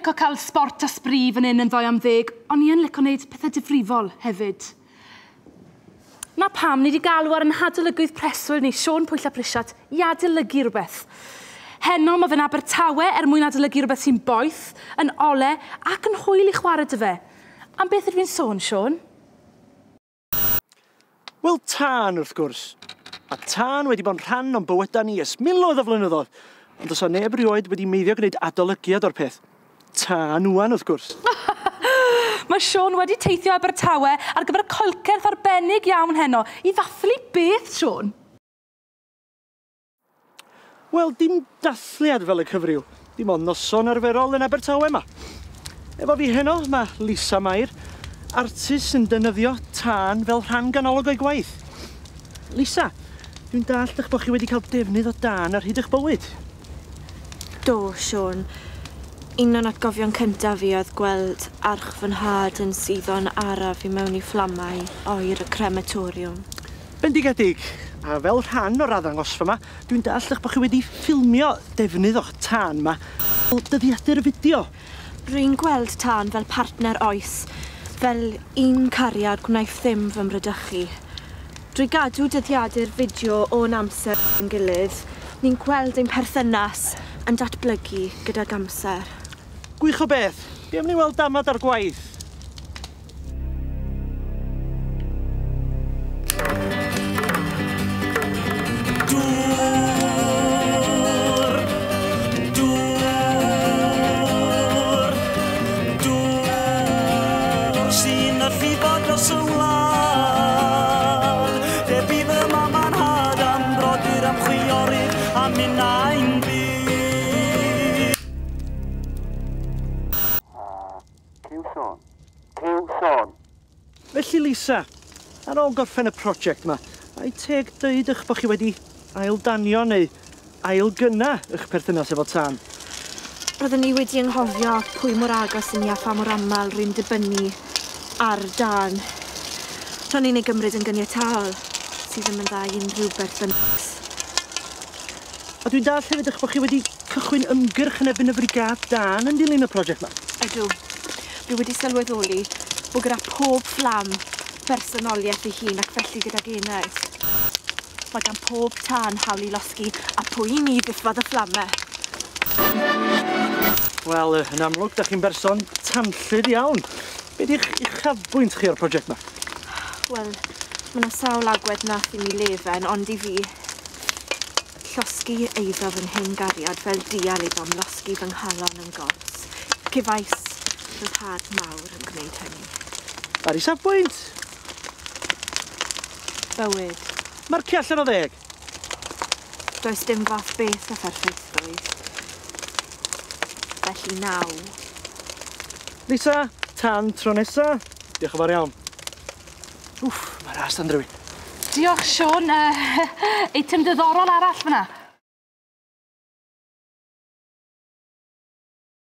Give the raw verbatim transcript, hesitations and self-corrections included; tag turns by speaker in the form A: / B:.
A: licio cael sbort a sbri fan hyn yn ddoi am ddeg, ond ni yn licio wneud pethau difrifol hefyd. Na pam ni wedi galw ar yn hadolygydd preswyl ni, Siôn Pwyll ap Rhisiart, i adolygu rhywbeth. Heno mae fe'n Abertawe er mwyn adolygu rhywbeth sy'n boeth, yn ole ac yn hwyl i chwarae dy fe. Am beth ydw i'n sôn, Siôn?
B: Wel, tân wrth gwrs. A tân wedi bod yn rhan o'n bywydau ni ers miloedd o flynyddoedd. Ond does 'na neb rioed wedi meiddio gwneud adolygiad o'r peth. Tân ŵan wrth gwrs.
A: Mae Siôn wedi teithio Abertawe ar gyfer coelcerth arbennig iawn heno i ddathlu beth, Siôn?
B: Wel, dim dathliad fel y cyfryw. Dim ond noson arferol yn Abertawe yma. Efo fi heno, mae Lisa Mair, artist sy'n defnyddio tân fel rhan ganolog o'i gwaith. Lisa, dwi'n dallt eich bod chi wedi cael defnydd o dân ar hyd eich bywyd.
C: Do, Siôn. Un o'n atgofion cyntaf fi oedd gweld arch fy nhad yn suddo'n araf i mewn i fflamau oer y crematoriwm.
B: Bendigedig, a fel rhan o'r arddangosfa yma, dwi'n dallt eich bod chi wedi ffilmio defnydd o'ch tân yma fel dyddiadur fideo.
C: Rwy'n gweld tân fel partner oes, fel un cariad gwnaeth ddim fy mradychu. Drwy gadw dyddiadur fideo o'n amser yn gilydd, ni'n gweld ein perthynas yn datblygu gydag amser.
B: Gwych o beth. Be am ni weld damad ar gwaith?
D: Dŵr, dŵr, dŵr sy'n llifo dros y wlad. Lle bu fy mam a'n nhad am brodyr am chwiorydd a minnau'n byw.
B: Felly Lisa, ar ôl gorffen y prosiect yma, ai teg dweud eich bod chi wedi aildanio neu ailgynna eich perthynas efo tân?
C: Roeddwn ni wedi anghofio pwy mor agos i ni a pha mor aml rwy'n dibynnu ar dân. Ro'n i'n ei gymryd yn gyniataol, sydd ddim yn dda i unrhyw berthynas.
B: A dwi'n dallt hefyd eich bod chi wedi cychwyn ymgyrch yn erbyn y frigâd dân yn dilyn y prosiect yma.
C: Ydw. Dwi wedi sylweddoli bod gyda pob fflam bersonoliaeth ei hun ac felly gydag enaid. Mae gan pob tân hawl i losgi a pwy i ni ddiffodd y fflamau.
B: Wel, yn amlwg, da chi'n berson tanllyd iawn. Be di'ch uchafbwynt chi o'r prosiect yma?
C: Wel, mae yna sawl agwedd nath i mi lefen, ond i fi, llosgi eiddo fy nghyn gariad fel dial iddo am losgi fy nghalon yn gors. Cefais ryddhad mawr yn gwneud hynny.
B: Ar isafbwynt?
C: Bywyd.
B: Marcio allan o ddeg?
C: Does dim fath beth o pherffeithrwydd. Felly naw.
B: Lisa, tan tro nesa. Diolch yn fawr iawn. Wff, mae'r ast yn drewi.
A: Diolch, Siôn. Uh, eitem diddorol arall fyna.